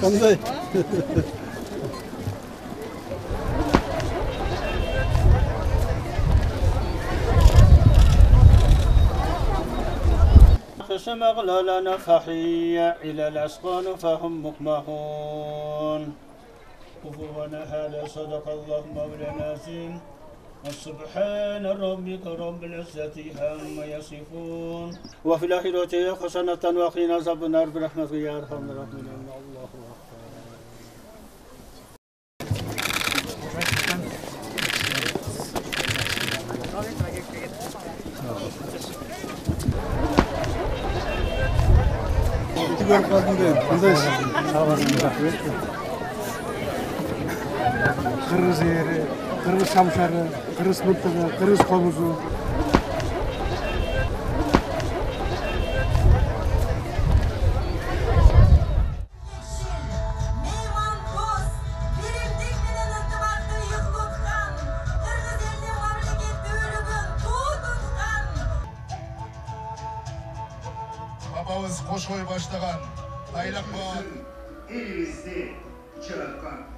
Qanday? خشم أغلالنا فحية إلى الأسقان فهم مقمحون كفوا هذا صدق الله مولانا العظيم سبحان ربك رب العزة عما يصفون وفي الآخرة حسنة وقنا عذاب النار برحمتك يا أرحم الراحمين الله أكبر. Kırgız yeri, Kırgız şamşarı, Kırgız mıntığı, Kırgız komuzu. Babamız koşoy başlagan, aylakma elimizni çırakkan.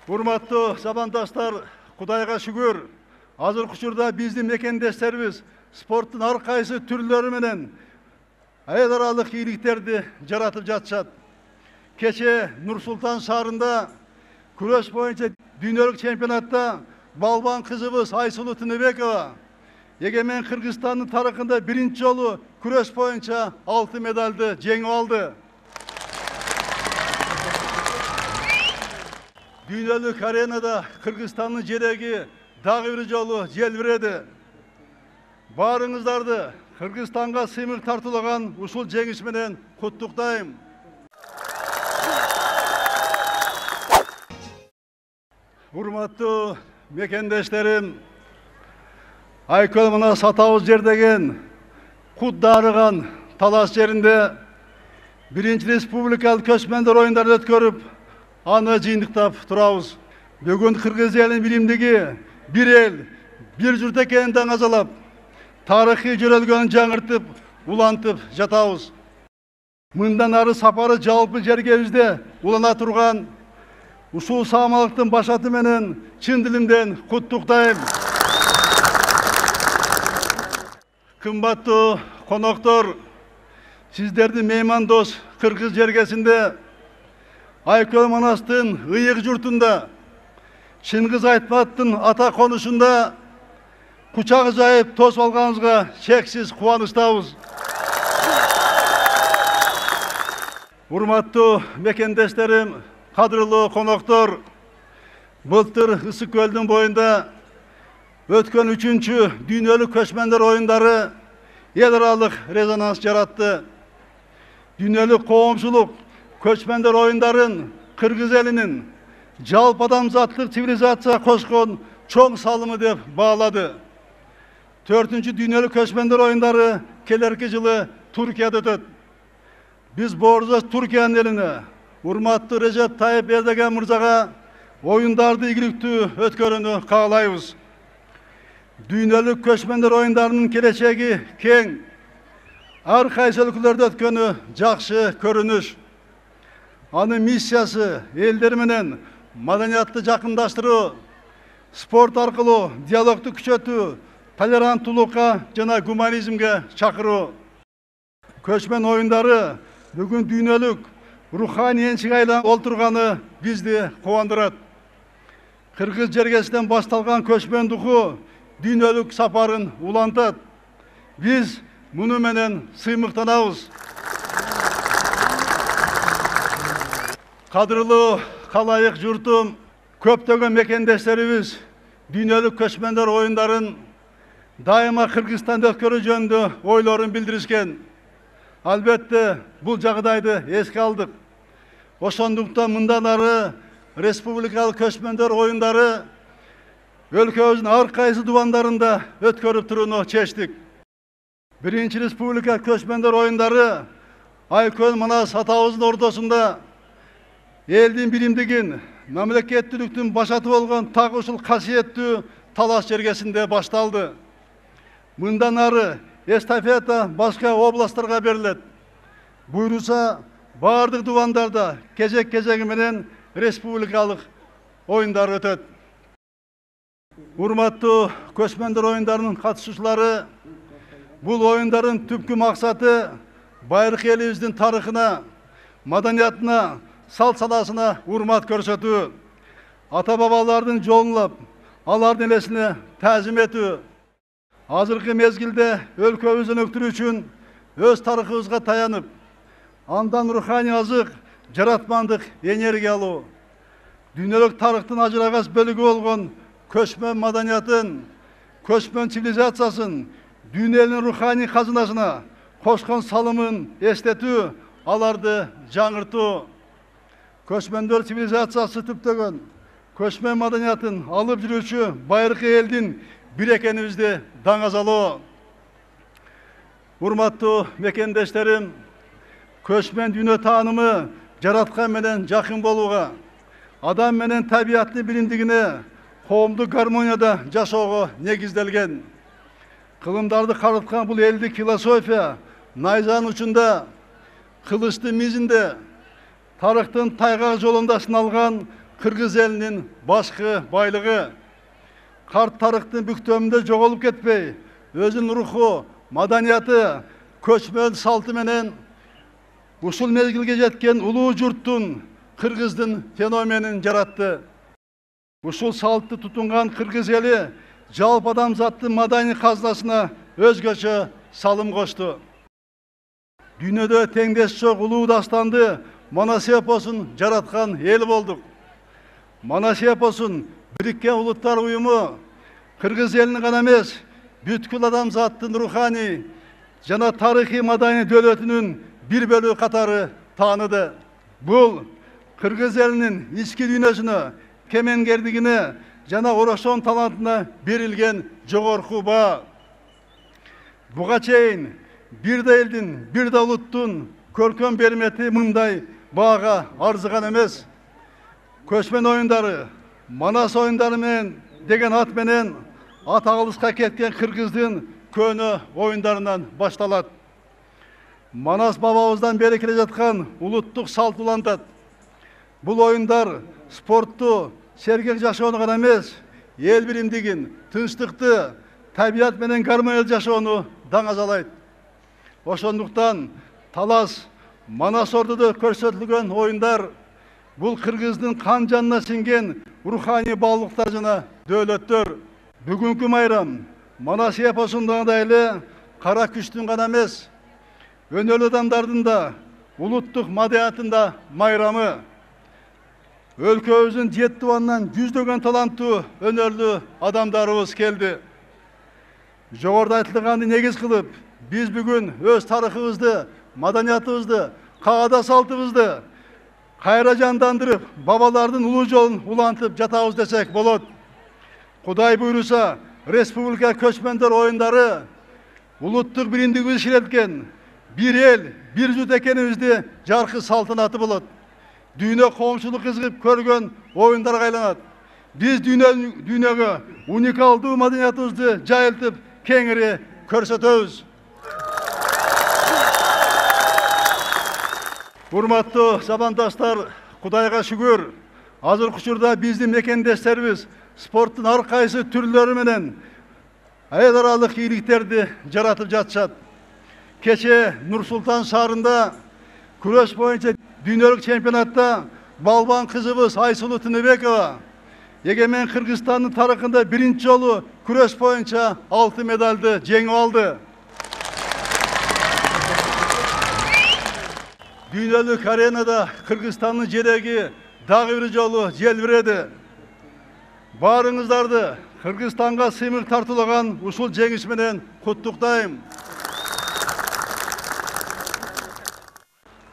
Урматтуу замандаштар, Кудайга шүгүр, азыркы учурда биздин мекендештерибиз спорттун ар кайсы түрлөрү менен эл аралык ийгиликтерди жаратып жатышат. Кече Нур-Султан шаарында күрөш боюнча дүйнөлүк чемпионатта балбан кызыбыз Айсулуу Тыныбекова эгемен Кыргызстандын тарыхында биринчи жолу күрөш боюнча алтын медалды жеңип алды. Дүйнөлүк аренада Кыргызстандын желеги дагы бир жолу желбиреди. Баарыңыздарды Кыргызстанга сыймык тартуулаган ушул жеңиш менен куттуктайм. Урматтуу мекендештерим, Айкөл мына Сатабыз жер деген кут дарыган талаш жеринде биринчи республикалык көчмөндөр оюндарын өткөрүп, аны жыйынтыктап турабыз. Бүгүн Кыргыз элинин биримдиги бир эл, бир журт экенин даңазалап, тарыхый жөрөлгөнүн жаңыртып, улантып жатабыз. Мындан ары сапары жалпы жергебизде улана турган ушул саамалыктын башаты менен чын дилимден куттуктайм. Кымбаттуу коноктор, сиздердин меймандос Кыргыз жергесинде Айкөл Манастын ыйык журтунда, Чыңгыз Айтматтын ата конушунда кучак жайып тосуп алганыбызга чексиз кубанычтабыз. Урматтуу мекендештерим, кадырлуу коноктор, былтыр Ысык көлдүн боюнда өткөн 3-чү дүйнөлүк көчмөндөр оюндары эл аралык резонанс жаратты. Дүйнөлүк коомчулук көчмөндөр оюндарын Кыргыз элинин жалпы адамзаттык цивилизацияга кошкон чоң салымы деп баалады. 4-чү дүйнөлүк көчмөндөр оюндары келерки жылы Туркияда өтөт. Биз боржош Туркиянын элине, урматтуу Режеп Тайып Эрдоган мырзага оюндарды ийгиликтүү өткөрүүнү каалайбыз. Дүйнөлүк көчмөндөр оюндарынын келечеги кең. Ар кайсы өлкөлөрдө өткөнү жакшы көрүнүш. Анын миссиясы элдер менен маданиятты жакындаштыруу, спорт аркылуу диалогду күчөтүү, толеранттуулукка жана гуманизмге чакыруу. Көчмөн оюндары бүгүн дүйнөлүк руханий энчиге айланып олтурганы бизди кубандырат. Кыргыз жергесинен башталган көчмөн духу дүйнөлүк сапарын улантат. Биз муну менен сыймыктанабыз. Кадырлуу калайык журтум, көптөгөн мекендештерибиз дүйнөлүк көчмөндөр оюндарын дайыма Кыргызстанда өткөрүү жөнүндө ойлорун билдиришкен. Албетте, бул жагдайды эске алдык. Ошондуктан мындан ары республикалык көчмөндөр оюндары өлкөбүздүн ар кайсы дубандарында өткөрүп турууну чечтик. Биринчи республика көчмөндөр оюндары Айкөл Манас атабыздын ортосунда элдин биримдигин, мамлекеттүүлүктүн башаты болгон так ушул касиеттүү Талас жергесинде башталды. Мындан ары эстафета башка областтарга берилет. Буйруса бардык дубандарда кезек-кезеги менен республикалык оюндар өтөт. Урматтуу көчмөндөр оюндарынын катышуучулары, бул оюндардын түпкү максаты байыркы элибиздин тарыхына, маданиятына, салт санасына урмат көрсөтүү, ата бабалардын жолун улап, алардын элесине таазим этүү. Азыркы мезгилде өлкөбүздүн өктүрүү үчүн өз тарыхыбызга таянып, андан руханий азык, жаратмандык энергия алуу, дүйнөлүк тарыхтын ажырагас бөлүгү болгон көчмөн маданиятын, көчмөн цивилизациясын, дүйнөнүн руханий казынасына кошкон салымын эстетүү, аларды жаңыртуу. Көчмөндөр цивилизациясы түптөгөн көчмөн маданиятын алып жүрүүчү байыркы элдин бир экенибизди даңазалоо. Урматтуу мекендештерим, көчмөн дүйнө таанымы жараткан менен жакын болууга, адам менен табияттын биримдигине, коомдук гармонияда жашоого негизделген. Кылымдарды карыткан бул элдик философия найзанын учунда, кылычтын мизинде, тарыхтын тайгак жолунда сыналган кыргыз элинин башкы байлыгы. Карт тарыхтын бүктөмүндө жоголуп кетпей, өзүнүн руху, маданияты, көчмөн салты менен ушул мезгилге жеткен улуу журттун, кыргыздын феноменин жаратты. Ушул салтты тутунган кыргыз эли жалпы адамзаттын маданий казынасына өзгөчө салым кошту. Дүйнөдө теңдеш жок улуу дастанды Манас эпосун жараткан эл болдук. Манас эпосун Бириккен Улуттар уюму кыргыз элинин гана эмес, бүткүл адамзаттын руханий жана тарыхый маданий дөөлөтүнүн бир бөлүгү катары тааныды. Бул кыргыз элинин ички дүйнөсүнө, кемеңгердигине жана орошон талантына берилген жогорку баа. Буга чейин бир да элдин, бир да улуттун көркөм бермети мындай баага арзыган эмес. Көчмөн оюндары, Манас оюндары менен деген ат менен ат алыска кеткен кыргыздын көөнө оюндарынан башталат. Манас бабабыздан бери келе жаткан улуттук салт улантат. Бул оюндар спортту, сергек жашоону гана эмес, эл биримдигин, тынчтыкты, табият менен гармониялык жашоону даңазалайт. Ошондуктан Талас, Манас ордудо көрсөтүлгөн оюндар бул кыргыздын кан жанына сиңген руханий баалуулуктар жана дөөлөттөр. Бүгүнкү майрам Манас эпосунда эле кара күчтүн гана эмес, өнөөлүү адамдардын да, улуттук маданиятында майрамы. Өлкөбүздүн 7 дубанынан жүздөгөн таланттуу өнөөлүү адамдарыбыз келди. Жогоруда айтылганды негиз кылып, биз бүгүн өз тарыхыбызды, маданиятыбызды, каада салтыбызды кайра жандандырып, бабалардын улуу жолун улантып жатабыз десек болот. Кудай буйруса, республика көчмөндөр оюндары улуттук биримдигибизди ширеткен бир эл, бир жут экенибизди жаркы салтанаты болот. Дүйнө коомчулук кызыгып көргөн оюндарга айланат. Биз дүйнөгө уникалдуу маданиятыбызды жайылтып, кеңири көрсөтөбүз. Урматтуу замандаштар, Кудайга шүгүр, азыркы учурда биздин мекендештерибиз спорттун ар кайсы түрлөрү менен эл аралык ийгиликтерди жаратып жатышат. Кече Нур-Султан шаарында күрөш боюнча дүйнөлүк чемпионатта балбан кызыбыз Айсулуу Тыныбекова эгемен Кыргызстандын тарыхында биринчи жолу күрөш боюнча алтын медалды жеңип алды. Дүйнөлүк аренада Кыргызстандын жереги дагы бир жолу желбиреди. Баарыңыздарды Кыргызстанга сыймык тартуулаган ушул жеңиш менен куттуктайм.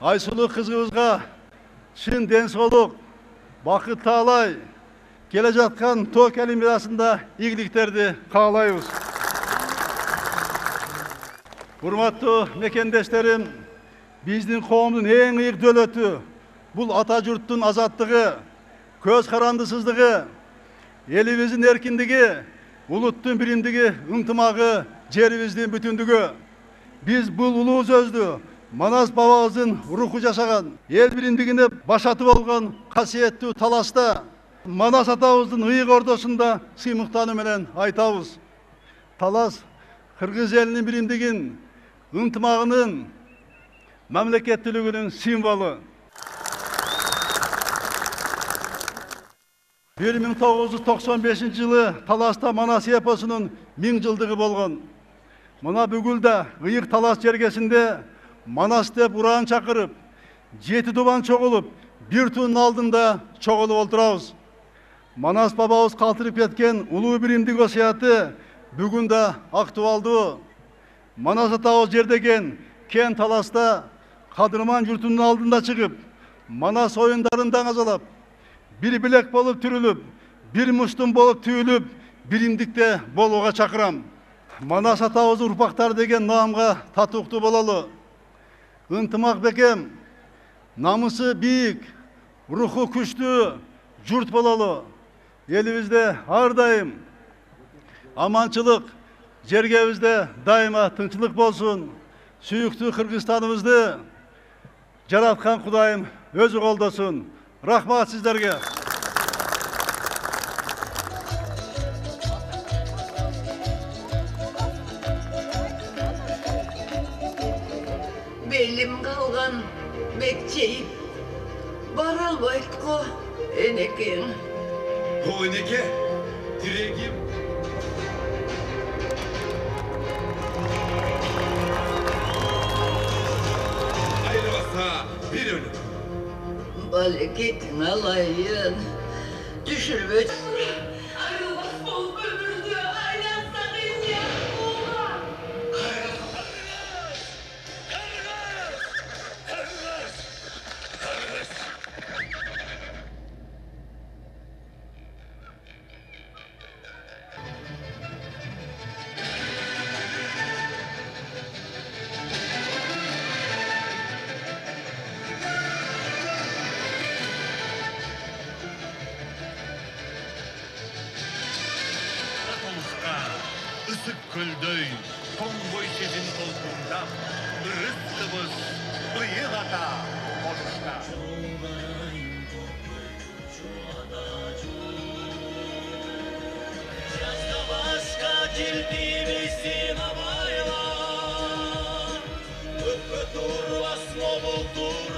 Айсулуу кызыбызга чын ден соолук, бакыт таалай, келе жаткан Токио Олимпиадасында ийгиликтерди каалайбыз. Урматтуу мекендештерим, биздин коомдун эң ыйык дөөлөтү бул ата журттун азаттыгы, көз карандысыздыгы, элибиздин эркиндиги, улуттун биримдиги, ынтымагы, жерибиздин бүтүндүгү. Биз бул улуу сөздү Манас бабабыздын руху жашаган, эл биримдигине башаты болгон касиеттүү таласта Манас атабыздын ыйык ордосунда сыймыктануу менен айтабыз. Талас кыргыз элинин биримдигин, ынтымагынын, мамлекеттүүлүгүнүн символу. 1995 жылы Таласта Манас эпосунун 1000 жылдыгы болгон. Мына бүгүл да ыйык талас жергесинде Манас деп ураан чакырып, 7 дубан чогулуп, бир туунун алдында чогулуп отурабыз. Манас бабабыз калтырып кеткен улуу биримдик осуяты бүгүн да актуалдуу. Манас атабыз жердеген кен Таласта кадырман журтунун алдында чыгып, Манас оюндарын даңазалап, бир билек болуп түрүлүп, бир муштум болуп түйүлүп, биримдикте болууга чакырам. Манас атабыздын урпактары деген наамга татыктуу бололу. Ынтымак бекем, намысы бийик, руху күчтүү журт бололу. Элибизде ар дайым аманчылык, жергебизде дайыма тынчылык болсун. Сүйүктүү Кыргызстаныбызды жараткан Кудайым өзү колдосун. Рахмат сиздерге. Белим калган бекчейип бара албайт го энекең. О энеке, тирегим. Айрылса бир өнүк. Балекетиң алайын, түшүрбөт. Айрылбас болуп өмүрдү айлансак ийгилик болгон. Isık kölдөй, тоңбой сезин толкундап, ырыскыбыз быйыл ата болушта. Жазда башка келбейбиздин абайлар, көккө турбас болуптур